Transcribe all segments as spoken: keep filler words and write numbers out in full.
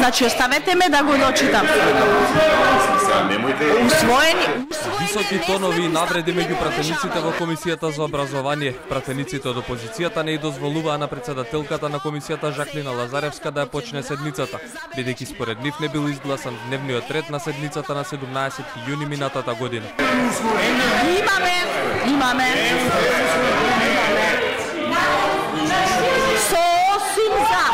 Значи оставете ме да го дочитам. Усвоени, Високи тонови и навреди меѓу пратениците во Комисијата за образование. Пратениците од опозицијата не и дозволуваа на председателката на комисијата Жаклина Лазаревска да ја почне седницата, бидејќи според нив не бил изгласан дневниот ред на седницата на седумнаесети јуни минатата година. Имаме, имаме. Сосим за.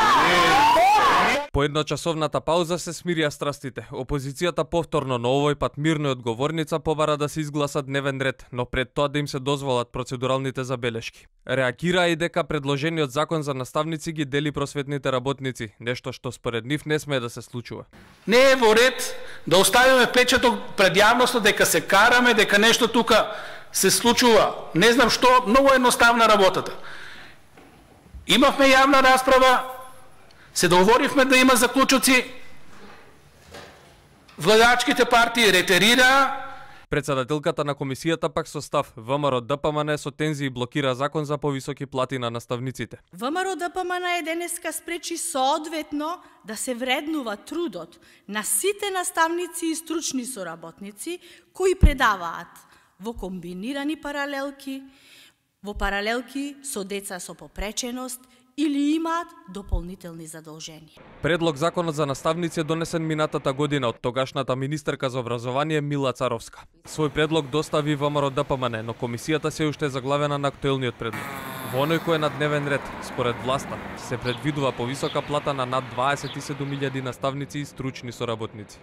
По едночасовната пауза се смирија страстите. Опозицијата повторно, но овој пат мирно и одговорница, побара да се изгласа дневен ред, но пред тоа да им се дозволат процедуралните забелешки. Реагираа и дека предложениот закон за наставници ги дели просветните работници, нешто што според нив не смее да се случува. Не е во ред да оставиме печаток пред јавноста дека се караме, дека нешто тука се случува. Не знам што, многу едноставна работата. Имавме јавна расправа, се договоривме да има заклучоци, владачките партии ретерира. Председателката на комисијата пак со став ВМРО-ДПМН со тензии блокира закон за повисоки плати на наставниците. ВМРО-ДПМН е денеска спречи соодветно да се вреднува трудот на сите наставници и стручни соработници кои предаваат во комбинирани паралелки, во паралелки со деца со попреченост или имаат дополнителни задолженија. Предлог законот за наставници е донесен минатата година од тогашната министерка за образование Мила Царовска. Свој предлог достави ВМРО-ДПМН, но комисијата се уште е заглавена на актуелниот предлог. Во оној кој е на дневен ред, според власта, се предвидува повисока плата на над дваесет и седум илјади наставници и стручни соработници.